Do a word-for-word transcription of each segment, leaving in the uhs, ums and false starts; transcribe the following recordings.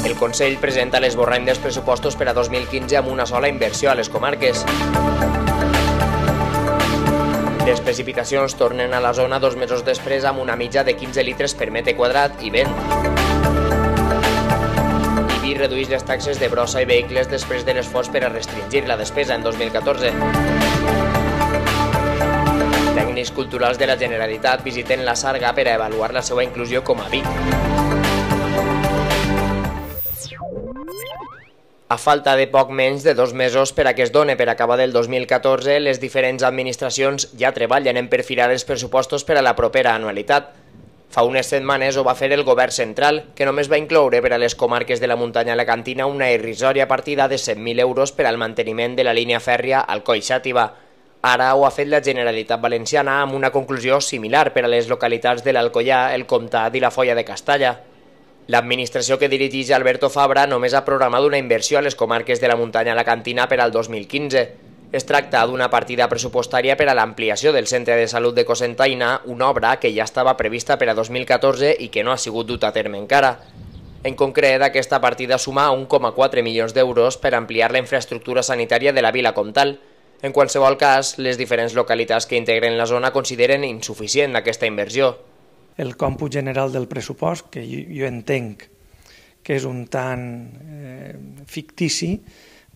El Consell presenta l'esborrany dels pressupostos per a dos mil quinze amb una sola inversió a les comarques. Les precipitacions tornen a la zona dos mesos després amb una mitja de quinze litres per metre quadrat i vent. Ibi redueix les taxes de brossa i vehicles després de l'esforç per a restringir la despesa en dos mil catorze. Tècnics culturals de la Generalitat visiten la Sarga per a avaluar la seva inclusió com a Vic. A falta de poc menys de dos mesos per a que es doni per acabar el dos mil catorze, les diferents administracions ja treballen en perfilar els pressupostos per a la propera anualitat. Fa unes setmanes ho va fer el govern central, que només va incloure per a les comarques de la muntanya alacantina una irrisòria partida de cent mil euros per al manteniment de la línia fèrria Alcoi-Xàtiva. Ara ho ha fet la Generalitat Valenciana amb una conclusió similar per a les localitats de l'Alcoià, el Comtat i la Foia de Castalla. L'administració que dirigeix Alberto Fabra només ha programat una inversió a les comarques de la muntanya alacantina per al dos mil quinze. Es tracta d'una partida pressupostària per a l'ampliació del Centre de Salut de Cocentaina, una obra que ja estava prevista per a dos mil catorze i que no ha sigut dut a terme encara. En concret, aquesta partida suma un coma quatre milions d'euros per ampliar la infraestructura sanitària de la vila comtal. En qualsevol cas, les diferents localitats que integren la zona consideren insuficient aquesta inversió. El còmput general del pressupost, que jo, jo entenc que és un tant eh, fictici,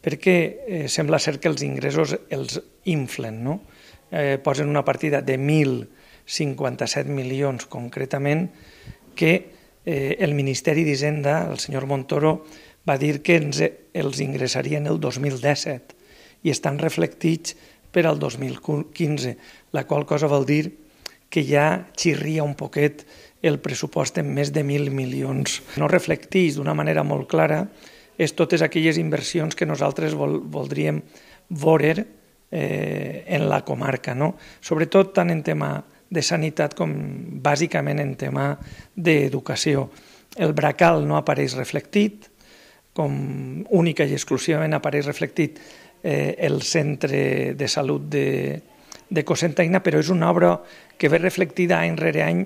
perquè eh, sembla ser que els ingressos els inflen, no? Eh, posen una partida de mil cinquanta-set milions concretament, que eh, el Ministeri d'Hisenda, el senyor Montoro, va dir que ens, els ingressarien el dos mil disset i estan reflectits per al dos mil quinze, la qual cosa vol dir que ja xirria un poquet el pressupost en més de mil milions. No reflecteix d'una manera molt clara és totes aquelles inversions que nosaltres vol, voldríem veure eh, en la comarca, no? Sobretot tant en tema de sanitat com bàsicament en tema d'educació. El bracal no apareix reflectit, com única i exclusivament apareix reflectit eh, el centre de salut de, de Cocentaina, però és una obra que ve reflectida any rere any,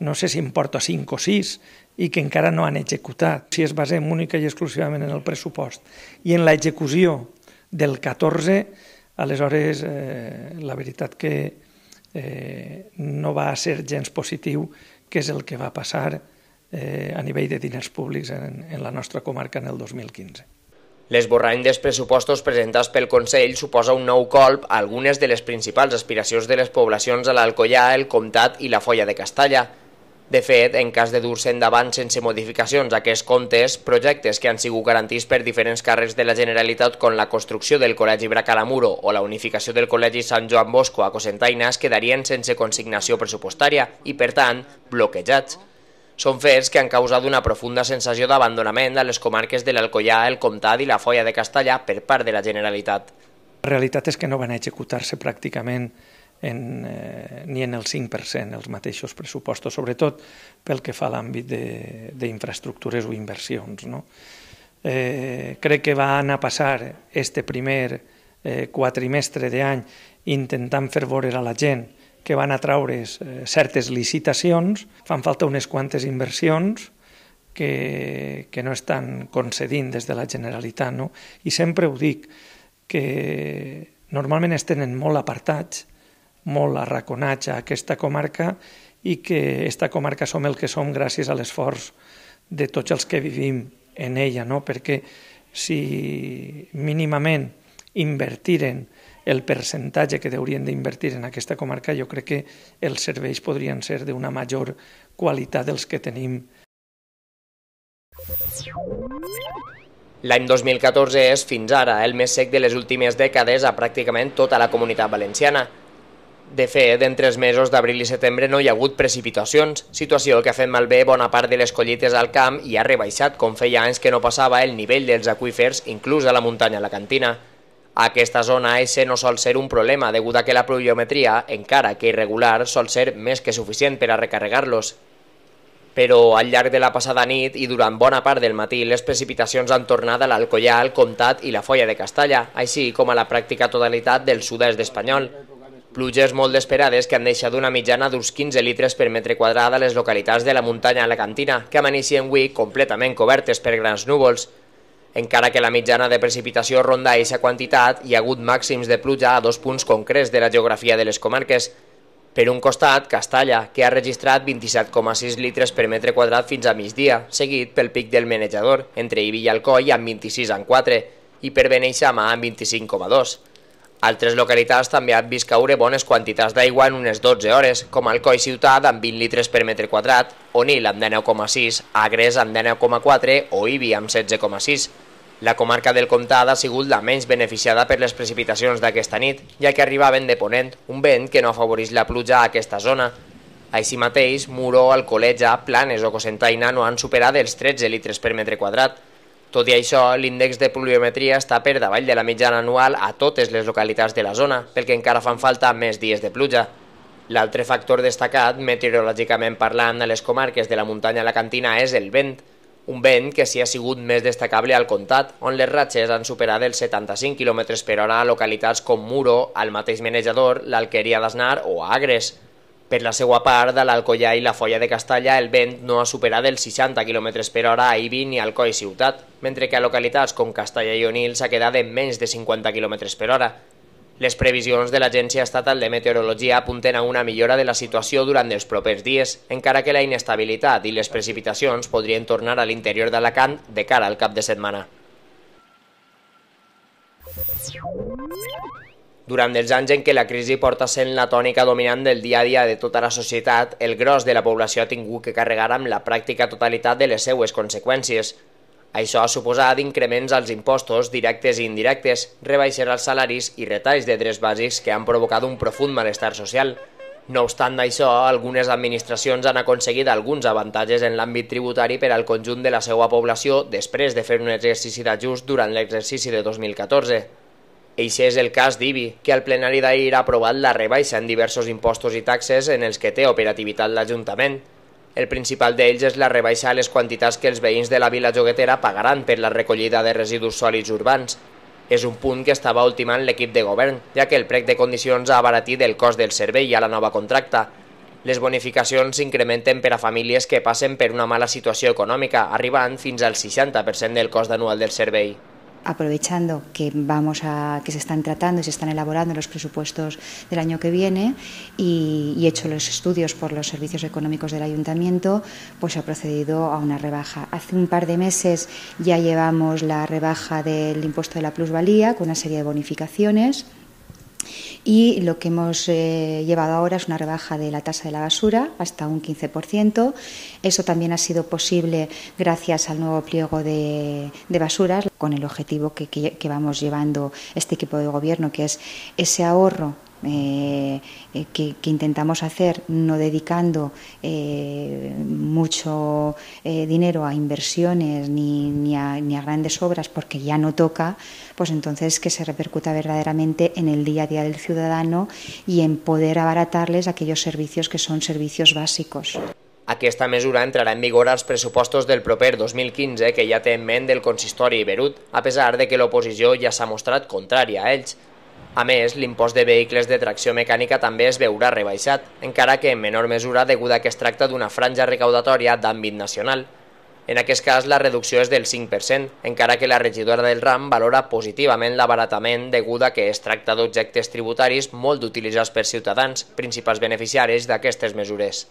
no sé si en porta cinc o sis, i que encara no han executat. Si es basem única i exclusivament en el pressupost i en l'execució del catorze, aleshores eh, la veritat que eh, no va ser gens positiu, que és el que va passar eh, a nivell de diners públics en, en la nostra comarca en el dos mil quinze. L'esborrany dels pressupostos presentats pel Consell suposa un nou colp a algunes de les principals aspiracions de les poblacions a l'Alcoià, el Comtat i la Foia de Castalla. De fet, en cas de dur-se endavant sense modificacions aquests comptes, projectes que han sigut garantits per diferents càrrecs de la Generalitat com la construcció del Col·legi Bracalamuro o la unificació del Col·legi Sant Joan Bosco a Cocentaina es quedarien sense consignació pressupostària i, per tant, bloquejats. Són fets que han causat una profunda sensació d'abandonament a les comarques de l'Alcoià, el Comtat i la Foia de Castalla per part de la Generalitat. La realitat és que no van executar-se pràcticament en, eh, ni en el cinc per cent els mateixos pressupostos, sobretot pel que fa a l'àmbit d'infraestructures o inversions, no? Eh, crec que va anar a passar este primer eh, quatrimestre d'any intentant fer veure a la gent que van atraure certes licitacions, fan falta unes quantes inversions que, que no estan concedint des de la Generalitat, no? I sempre ho dic, que normalment es tenen molt apartats, molt arraconats a aquesta comarca i que aquesta comarca som el que som gràcies a l'esforç de tots els que vivim en ella, no? Perquè si mínimament invertiren el percentatge que haurien d'invertir en aquesta comarca, jo crec que els serveis podrien ser d'una major qualitat dels que tenim. L'any dos mil catorze és, fins ara, el més sec de les últimes dècades a pràcticament tota la comunitat valenciana. De fet, entre els mesos d'abril i setembre no hi ha hagut precipitacions, situació que ha fet malbé bona part de les collites al camp i ha rebaixat, com feia anys que no passava, el nivell dels aqüífers, inclús a la muntanya alacantina. A aquesta zona ese no sol ser un problema, degut a que la pluviometria, encara que irregular, sol ser més que suficient per a recarregar-los. Però al llarg de la passada nit i durant bona part del matí les precipitacions han tornat a l'Alcoià, el Comtat i la Foia de Castalla, així com a la pràctica totalitat del sud-est espanyol. Pluges molt esperades que han deixat una mitjana d'uns quinze litres per metre quadrat a les localitats de la muntanya alacantina, que amaneixien avui completament cobertes per grans núvols. Encara que la mitjana de precipitació ronda aquesta quantitat, hi ha hagut màxims de pluja a dos punts concrets de la geografia de les comarques. Per un costat, Castalla, que ha registrat vint-i-set coma sis litres per metre quadrat fins a migdia, seguit pel pic del Menejador, entre Ibi i Alcoi amb vint-i-sis coma quatre i per Beneixama amb vint-i-cinc coma dos. Altres localitats també han vist caure bones quantitats d'aigua en unes dotze hores, com Alcoi ciutat amb vint litres per metre quadrat, Onil amb dinou coma sis, Agres amb dinou coma quatre o Ibi amb setze coma sis. La comarca del Comtat ha sigut la menys beneficiada per les precipitacions d'aquesta nit, ja que arribaven de ponent, un vent que no afavoreix la pluja a aquesta zona. Així mateix, Muro, Alcoleja, Planes o Cocentaina no han superat els tretze litres per metre quadrat. Tot i això, l'índex de pluviometria està per davall de la mitjana anual a totes les localitats de la zona, pel que encara fan falta més dies de pluja. L'altre factor destacat, meteorològicament parlant, a les comarques de la muntanya alacantina és el vent, un vent que sí ha sigut més destacable al Comtat, on les ratxes han superat els setanta-cinc quilòmetres per hora a localitats com Muro, al mateix Menejador, l'Alqueria d'Asnar o Agres. Per la seva part, a l'Alcoià i la Foia de Castalla, el vent no ha superat els seixanta quilòmetres per hora a Ibi ni Alcoi ciutat, mentre que a localitats com Castalla i Onil s'ha quedat en menys de cinquanta quilòmetres per hora. Les previsions de l'Agència Estatal de Meteorologia apunten a una millora de la situació durant els propers dies, encara que la inestabilitat i les precipitacions podrien tornar a l'interior d'Alacant de cara al cap de setmana. Durant els anys en què la crisi porta sent la tònica dominant del dia a dia de tota la societat, el gros de la població ha tingut que carregar amb la pràctica totalitat de les seues conseqüències. Això ha suposat increments als impostos directes i indirectes, rebaixes als salaris i retalls de drets bàsics que han provocat un profund malestar social. No obstant això, algunes administracions han aconseguit alguns avantatges en l'àmbit tributari per al conjunt de la seva població després de fer un exercici d'ajust durant l'exercici de dos mil catorze. Eixe és el cas d'Ibi, que al plenari d'ahir ha aprovat la rebaixa en diversos impostos i taxes en els que té operativitat l'Ajuntament. El principal d'ells és la rebaixa a les quantitats que els veïns de la vila joguetera pagaran per la recollida de residus sòlids urbans. És un punt que estava ultimant l'equip de govern, ja que el plec de condicions ha abaratit el cost del servei a la nova contracta. Les bonificacions s'incrementen per a famílies que passen per una mala situació econòmica, arribant fins al seixanta per cent del cost anual del servei. Aprovechando que vamos a que se están tratando y se están elaborando los presupuestos del año que viene y, y hecho los estudios por los servicios económicos del ayuntamiento, pues se ha procedido a una rebaja. Hace un par de meses ya llevamos la rebaja del impuesto de la plusvalía con una serie de bonificaciones. Y lo que hemos eh, llevado ahora es una rebaja de la tasa de la basura hasta un quince por ciento. Eso también ha sido posible gracias al nuevo pliego de, de basuras, con el objetivo que, que, que vamos llevando este equipo de gobierno, que es ese ahorro Eh, eh, que, que intentamos hacer, no dedicando eh, mucho eh, dinero a inversiones ni, ni, a, ni a grandes obras porque ya no toca, pues entonces que se repercuta verdaderamente en el día a día del ciudadano y en poder abaratarles aquellos servicios que son servicios básicos. Aquesta mesura entrarà en vigor als pressupostos del proper dos mil quinze que ja té en ment del consistori Iberut, a pesar de que l'oposició ja s'ha mostrat contrària a ells. A més, l'impost de vehicles de tracció mecànica també es veurà rebaixat, encara que en menor mesura degut a que es tracta d'una franja recaudatòria d'àmbit nacional. En aquest cas, la reducció és del cinc per cent, encara que la regidora del RAM valora positivament l'abaratament degut a que es tracta d'objectes tributaris molt utilitzats per ciutadans, principals beneficiaris d'aquestes mesures.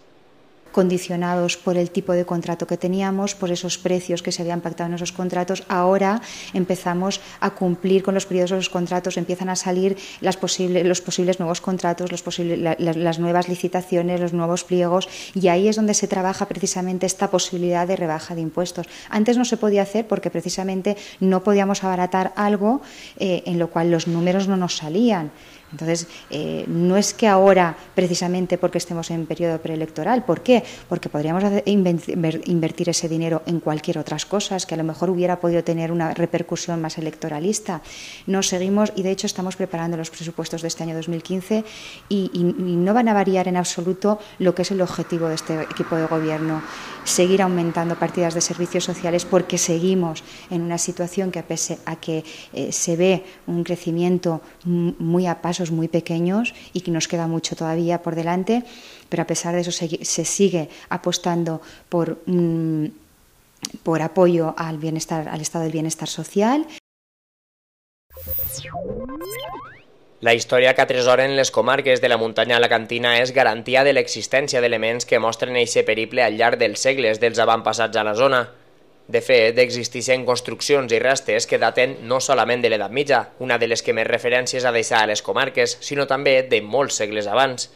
Condicionados por el tipo de contrato que teníamos, por esos precios que se habían pactado en esos contratos, ahora empezamos a cumplir con los periodos de los contratos, empiezan a salir las posible, los posibles nuevos contratos, los posibles, la, la, las nuevas licitaciones, los nuevos pliegos, y ahí es donde se trabaja precisamente esta posibilidad de rebaja de impuestos. Antes no se podía hacer porque precisamente no podíamos abaratar algo eh, en lo cual los números no nos salían. Entonces, eh, no es que ahora, precisamente porque estemos en periodo preelectoral, ¿por qué? Porque podríamos hacer, invertir ese dinero en cualquier otras cosas que a lo mejor hubiera podido tener una repercusión más electoralista. No seguimos, y de hecho estamos preparando los presupuestos de este año dos mil quince y, y, y no van a variar en absoluto lo que es el objetivo de este equipo de gobierno, seguir aumentando partidas de servicios sociales, porque seguimos en una situación que, a pese a que eh, se ve un crecimiento muy a pasos muy pequeños y que nos queda mucho todavía por delante, pero a pesar de eso se, se sigue apostando por, mm, por apoyo al bienestar, al estado del bienestar social. La història que atresoren les comarques de la muntanya alacantina és garantia de l'existència d'elements que mostren eixe periple al llarg dels segles dels avantpassats a la zona. De fet, existeixen construccions i restes que daten no solament de l'edat mitja, una de les que més referències ha deixat a les comarques, sinó també de molts segles abans.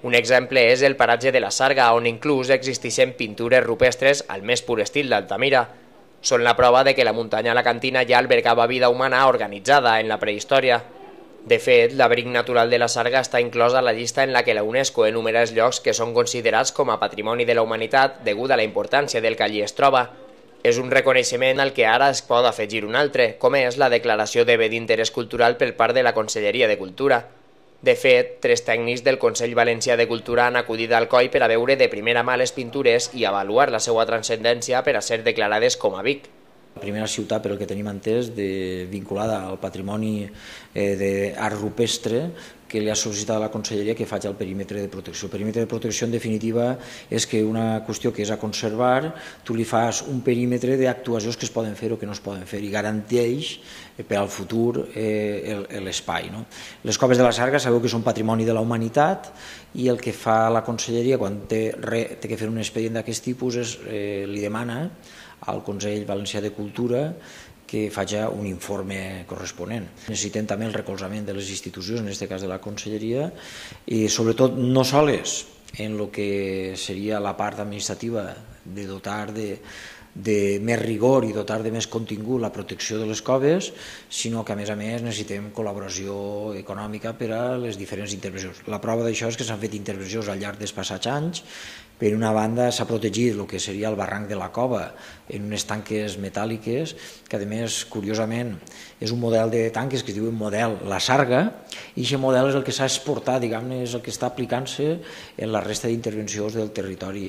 Un exemple és el paratge de la Sarga, on inclús existeixen pintures rupestres al més pur estil d'Altamira. Són la prova de que la muntanya alacantina ja albergava vida humana organitzada en la prehistòria. De fet, l'abric natural de la Sarga està inclòs a la llista en la que la UNESCO enumera els llocs que són considerats com a patrimoni de la humanitat degut a la importància del que allí es troba. És un reconeixement al que ara es pot afegir un altre, com és la declaració de bé d'interès cultural per part de la Conselleria de Cultura. De fet, tres tècnics del Consell Valencià de Cultura han acudit al Coi per a veure de primera mà les pintures i avaluar la seva transcendència per a ser declarades com a Vic. La primera ciutat, per el que tenim entès, de, vinculada al patrimoni eh, d'art rupestre que li ha sol·licitat a la Conselleria que faci el perímetre de protecció. El perímetre de protecció, en definitiva, és que una qüestió que és a conservar, tu li fas un perímetre d'actuacions que es poden fer o que no es poden fer i garanteix eh, per al futur eh, l'espai. No? Les coves de la Sarga sabeu que són patrimoni de la humanitat i el que fa la Conselleria quan té, re, té que fer un expedient d'aquest tipus és, eh, li demana al Consell Valencià de Cultura que faci un informe corresponent. Necessitem també el recolzament de les institucions, en aquest cas de la Conselleria, i sobretot no soles en el que seria la part administrativa de dotar de, de més rigor i dotar de més contingut la protecció de les coves, sinó que a més a més necessitem col·laboració econòmica per a les diferents intervencions. La prova d'això és que s'han fet intervencions al llarg dels passats anys. Per una banda s'ha protegit el que seria el barranc de la cova en unes tanques metàl·liques que a més, curiosament, és un model de tanques que es diu model La Sarga i aquest model és el que s'ha exportat, diguem-ne, és el que està aplicant-se en la resta d'intervencions del territori,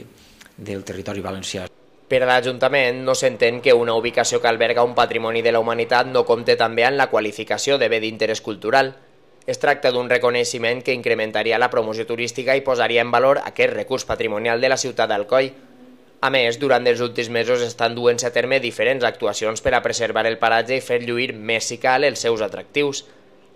del territori valencià. Per a l'Ajuntament no s'entén que una ubicació que alberga un patrimoni de la humanitat no compte també amb la qualificació de bé d'interès cultural. Es tracta d'un reconeixement que incrementaria la promoció turística i posaria en valor aquest recurs patrimonial de la ciutat d'Alcoi. A més, durant els últims mesos estan duent-se a terme diferents actuacions per a preservar el paratge i fer lluir més si cal els seus atractius.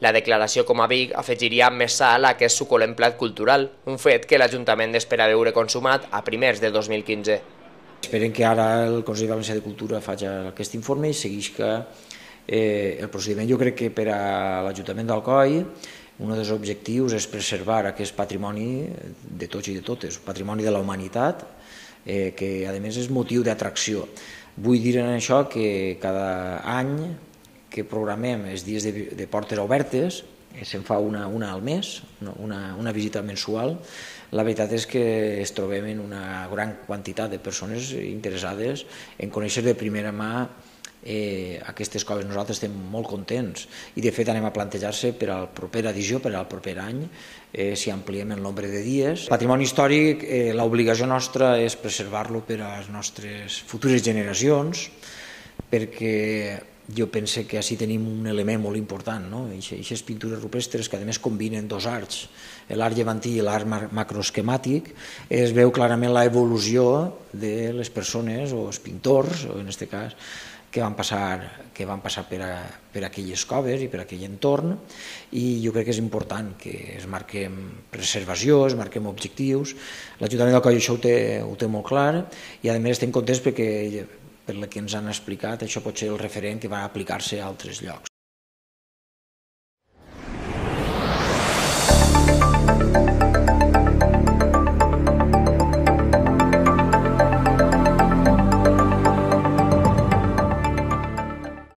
La declaració com a Vic afegiria més sal a aquest suculent plat cultural, un fet que l'Ajuntament espera veure consumat a primers de dos mil quinze. Esperem que ara el Consell Valencià de Cultura faci aquest informe i seguisca Eh, el procediment. Jo crec que per a l'Ajuntament d'Alcoi un dels objectius és preservar aquest patrimoni de tots i de totes, patrimoni de la humanitat, eh, que a més és motiu d'atracció. Vull dir en això que cada any que programem els dies de, de portes obertes, eh, se'n fa una, una al mes, una, una visita mensual, la veritat és que es trobem en una gran quantitat de persones interessades en conèixer de primera mà Eh, aquestes coves. Nosaltres estem molt contents i de fet anem a plantejar-se per a la propera edició, per al proper any, eh, si ampliem el nombre de dies. El patrimoni històric, eh, l'obligació nostra és preservar-lo per a les nostres futures generacions, perquè jo penso que així tenim un element molt important, no? Aquestes pintures rupestres que a més combinen dos arts, l'art llevantí i l'art macroesquemàtic, es veu clarament l'evolució de les persones o els pintors, o en aquest cas, que van passar, que van passar per, a, per aquelles coves i per aquell entorn, i jo crec que és important que es marquem preservació, es marquem objectius. L'Ajuntament d'Alcoi això ho té, ho té molt clar i a més estem contents perquè per el que ens han explicat això pot ser el referent que va aplicar-se a altres llocs.